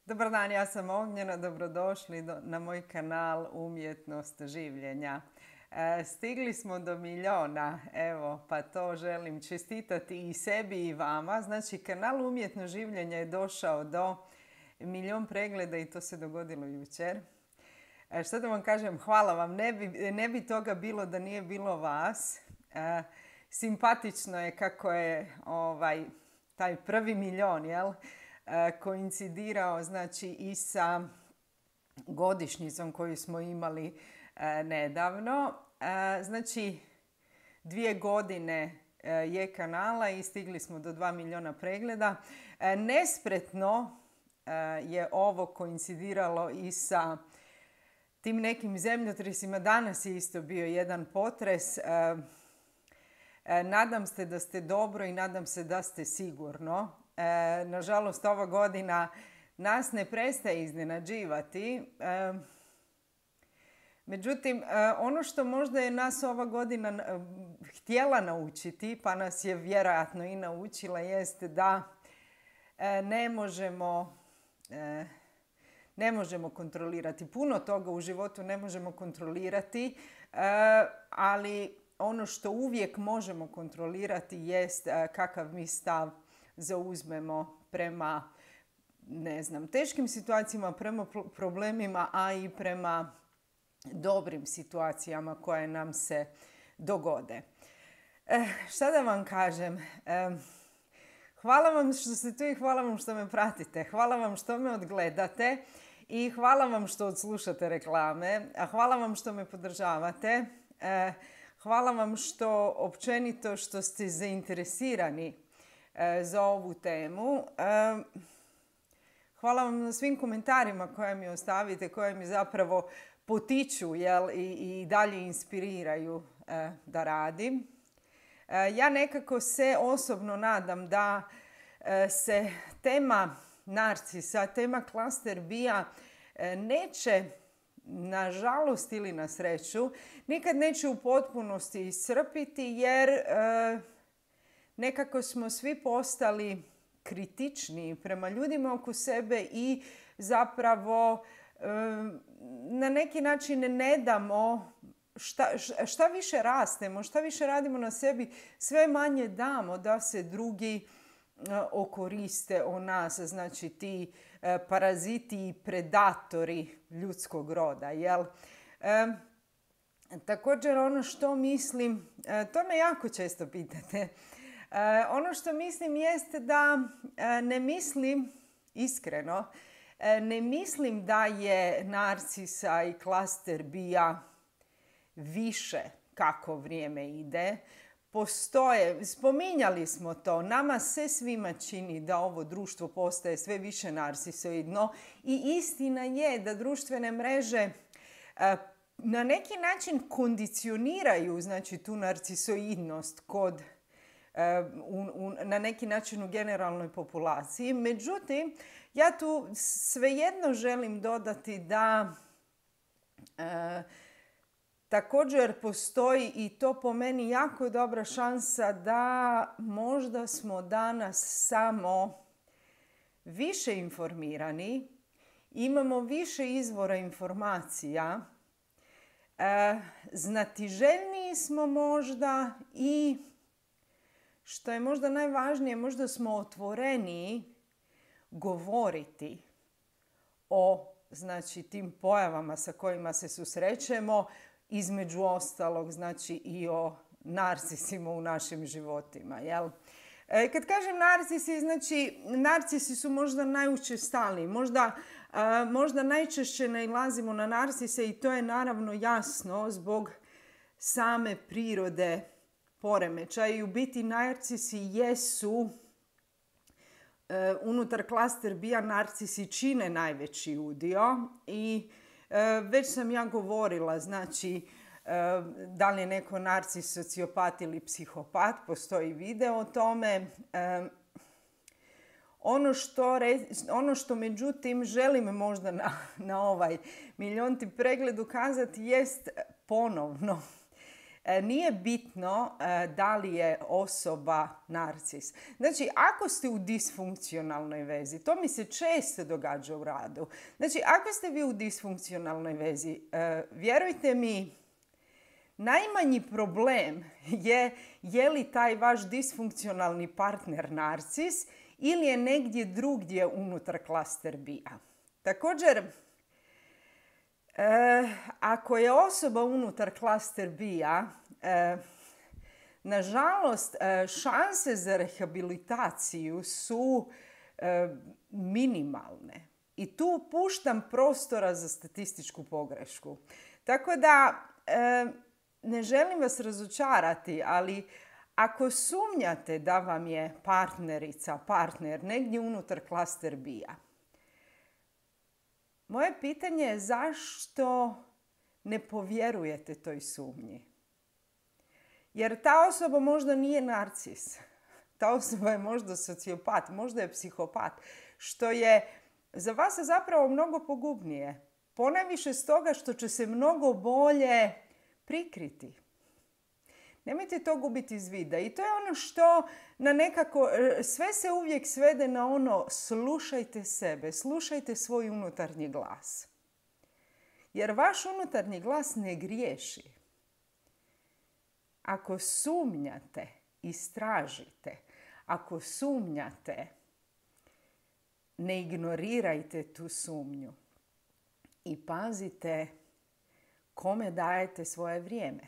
Dobar dan, ja sam Ognjena, dobrodošli na moj kanal Umjetnost življenja. Stigli smo do 1.000.000, evo, pa to želim čestitati i sebi i vama. Znači, kanal Umjetnost življenja je došao do 1.000.000 pregleda i to se dogodilo jučer. Što da vam kažem, hvala vam, ne bi toga bilo da nije bilo vas. Simpatično je kako je taj prvi 1.000.000, jel? Koincidirao znači i sa godišnjicom koju smo imali nedavno. Znači 2 godine je kanala i stigli smo do 2.000.000 pregleda. Nespretno je ovo koincidiralo i sa tim nekim zemljotresima. Danas je isto bio jedan potres. Nadam se da ste dobro i nadam se da ste sigurno. Nažalost, ova godina nas ne prestaje iznenađivati. Međutim, ono što možda je nas ova godina htjela naučiti, pa nas je vjerojatno i naučila, jeste da ne možemo kontrolirati. Puno toga u životu ne možemo kontrolirati, ali ono što uvijek možemo kontrolirati jest kakav mi stav zauzmemo prema, teškim situacijama, prema problemima, a i prema dobrim situacijama koje nam se dogode. Šta da vam kažem? Hvala vam što ste tu i hvala vam što me pratite. Hvala vam što me odgledate i hvala vam što odslušate reklame. A hvala vam što me podržavate. Hvala vam što općenito što ste zainteresirani za ovu temu. Hvala vam na svim komentarima koje mi ostavite, koje mi zapravo potiču i dalje inspiriraju da radim. Ja nekako se osobno nadam da se tema narcisa, tema klaster B-a neće, nažalost ili na sreću, nikad neće u potpunosti iscrpiti jer nekako smo svi postali kritični prema ljudima oko sebe i zapravo na neki način ne damo šta više rastemo, šta više radimo na sebi, sve manje damo da se drugi okoriste o nas, znači ti paraziti i predatori ljudskog roda, jel? Također ono što mislim, to me jako često pitate, ono što mislim jeste da ne mislim, iskreno, ne mislim da je narcisa i klaster B-a više kako vrijeme ide. Postoje, spominjali smo to, nama se svima čini da ovo društvo postaje sve više narcisoidno i istina je da društvene mreže na neki način kondicioniraju znači, tu narcisoidnost kod na neki način u generalnoj populaciji. Međutim, ja tu svejedno želim dodati da također postoji i to po meni jako dobra šansa da možda smo danas samo više informirani, imamo više izvora informacija, znatiželjniji smo možda i što je možda najvažnije, možda smo otvoreniji govoriti o znači, tim pojavama sa kojima se susrećemo, između ostalog znači, i o narcisima u našim životima. Jel? Kad kažem narcisi, znači narcisi su možda najučestaliji, možda najčešće nailazimo na narcise i to je naravno jasno zbog same prirode poremećaja i u biti narcisi jesu unutar klaster B-a narcisi čine najveći udio i već sam ja govorila, znači da li je neko narcis, sociopat ili psihopat, postoji video o tome. Ono što međutim želim možda na ovaj 1.000.000 pregled ukazati jest ponovno nije bitno da li je osoba narcis. Znači, ako ste u disfunkcionalnoj vezi, to mi se često događa u radu. Znači, ako ste vi u disfunkcionalnoj vezi, vjerujte mi, najmanji problem je li taj vaš disfunkcionalni partner narcis ili je negdje drugdje unutar klaster B-a. Također, ako je osoba unutar klaster B-a, nažalost, šanse za rehabilitaciju su minimalne. I tu puštam prostora za statističku pogrešku. Tako da, ne želim vas razočarati, ali ako sumnjate da vam je partner negdje unutar klaster B-a, moje pitanje je zašto ne povjerujete toj sumnji? Jer ta osoba možda nije narcis. Ta osoba je možda sociopat, možda je psihopat, što je za vas zapravo mnogo pogubnije. Ponajviše stoga što će se mnogo bolje prikriti. Nemojte to gubiti iz vida. I to je ono što na nekako, sve se uvijek svede na ono, slušajte sebe, slušajte svoj unutarnji glas. Jer vaš unutarnji glas ne griješi. Ako sumnjate, istražite. Ako sumnjate, ne ignorirajte tu sumnju. I pazite kome dajete svoje vrijeme.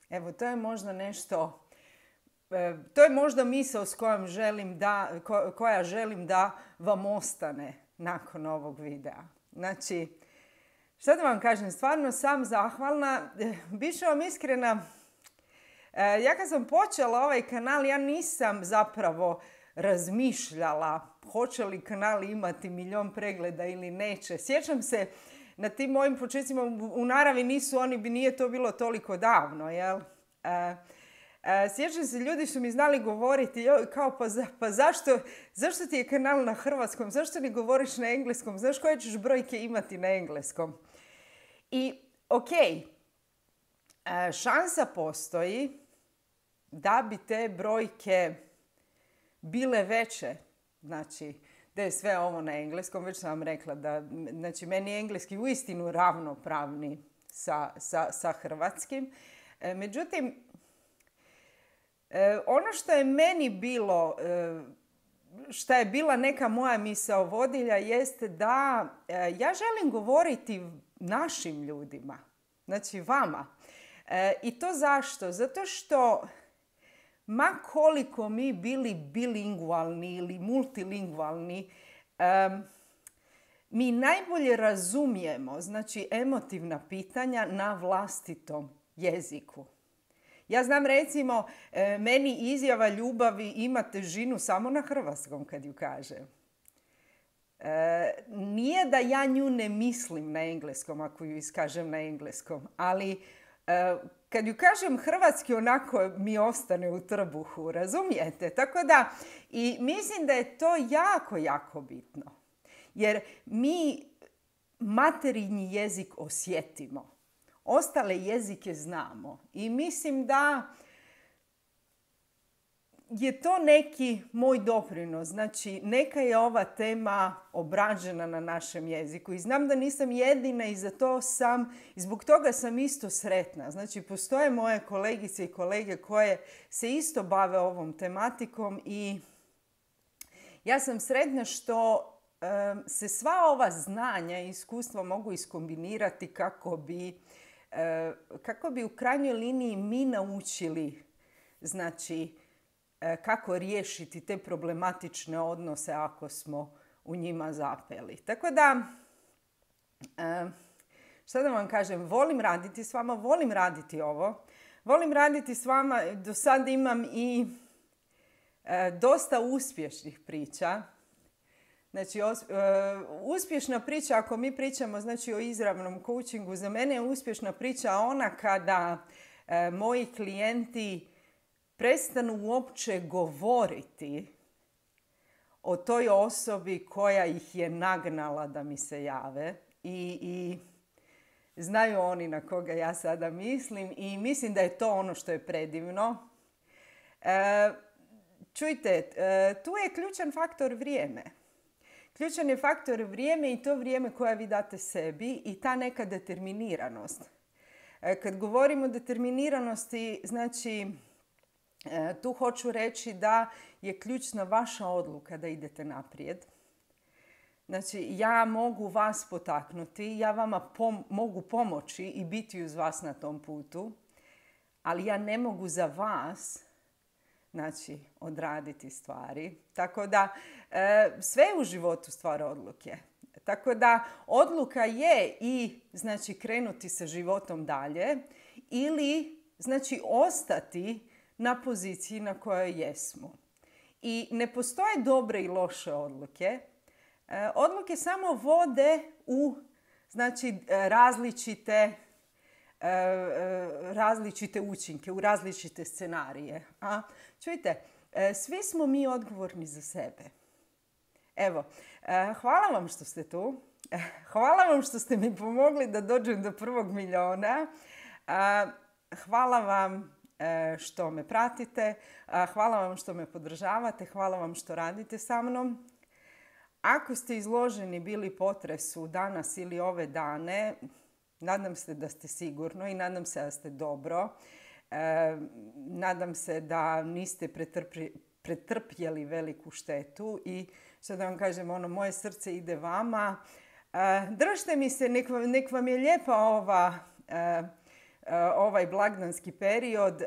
Evo, to je možda nešto, to je možda misao s kojom koja želim da vam ostane nakon ovog videa. Znači, šta da vam kažem, stvarno sam zahvalna. Biću vam iskrena, ja kad sam počela ovaj kanal, ja nisam zapravo razmišljala hoće li kanal imati 1.000.000 pregleda ili neće. Sjećam se, na tim mojim početcima u naravi nije to bilo toliko davno, jel? Sjećam se, ljudi su mi znali govoriti, kao pa zašto ti je kanal na hrvatskom, zašto ne govoriš na engleskom, znaš koje ćeš brojke imati na engleskom? I šansa postoji da bi te brojke bile veće, znači da je sve ovo na engleskom, već sam vam rekla da, znači, meni je engleski uistinu ravnopravni sa hrvatskim. Međutim, ono što je meni bilo, što je bila neka moja misao vodilja, jeste da ja želim govoriti našim ljudima, znači vama. I to zašto? Zato što ma koliko mi bili bilingualni ili multilingvalni, mi najbolje razumijemo, znači, emotivna pitanja na vlastitom jeziku. Ja znam, recimo, meni izjava ljubavi ima težinu samo na hrvatskom kad ju kažem. Nije da ja nju ne mislim na engleskom ako ju iskažem na engleskom, ali kad ju kažem hrvatski, onako mi ostane u trbuhu, razumijete? Tako da, i mislim da je to jako, jako bitno. Jer mi materinji jezik osjetimo. Ostale jezike znamo. I mislim da je to neki moj doprinos. Znači, neka je ova tema obrađena na našem jeziku. I znam da nisam jedina i zbog toga sam isto sretna. Znači, postoje moje kolegice i kolege koje se isto bave ovom tematikom i ja sam sretna što se sva ova znanja i iskustva mogu iskombinirati kako bi u krajnjoj liniji mi naučili, znači, kako riješiti te problematične odnose ako smo u njima zapeli. Tako da, šta da vam kažem, volim raditi s vama, volim raditi ovo. Volim raditi s vama, do sad imam i dosta uspješnih priča. Znači, uspješna priča, ako mi pričamo, znači, o izravnom coachingu, za mene je uspješna priča ona kada moji klijenti prestanu uopće govoriti o toj osobi koja ih je nagnala da mi se jave i znaju oni na koga ja sada mislim i mislim da je to ono što je predivno. Čujte, tu je ključan faktor vrijeme. Ključan je faktor vrijeme i to vrijeme koje vi date sebi i ta neka determiniranost. Kad govorimo o determiniranosti, znači tu hoću reći da je ključna vaša odluka da idete naprijed. Znači, ja mogu vas potaknuti, ja vama mogu pomoći i biti uz vas na tom putu, ali ja ne mogu za vas, znači, odraditi stvari. Tako da, sve je u životu stvar odluke. Tako da, odluka je i, znači, krenuti sa životom dalje ili, znači, ostati na poziciji na kojoj jesmo. I ne postoje dobre i loše odluke. Odluke samo vode u, znači, različite učinke, u različite scenarije. Čujte, svi smo mi odgovorni za sebe. Evo, hvala vam što ste tu. Hvala vam što ste mi pomogli da dođem do 1. milijuna. Hvala vam što me pratite. Hvala vam što me podržavate. Hvala vam što radite sa mnom. Ako ste izloženi bili potresu danas ili ove dane, nadam se da ste sigurno i nadam se da ste dobro. Nadam se da niste pretrpjeli veliku štetu i što da vam kažem, moje srce ide vama. Držite mi se, nek vam je lijepa ovaj blagdanski period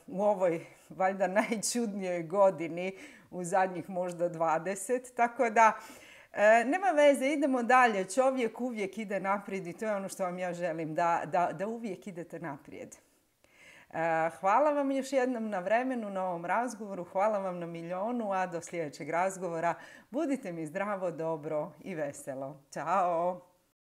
u ovoj valjda najčudnijoj godini u zadnjih možda 20. Tako da nema veze, idemo dalje. Čovjek uvijek ide naprijed i to je ono što vam ja želim, da uvijek idete naprijed. Hvala vam još jednom na vremenu, na ovom razgovoru. Hvala vam na milijonu, a do sljedećeg razgovora budite mi zdravo, dobro i veselo. Ćao!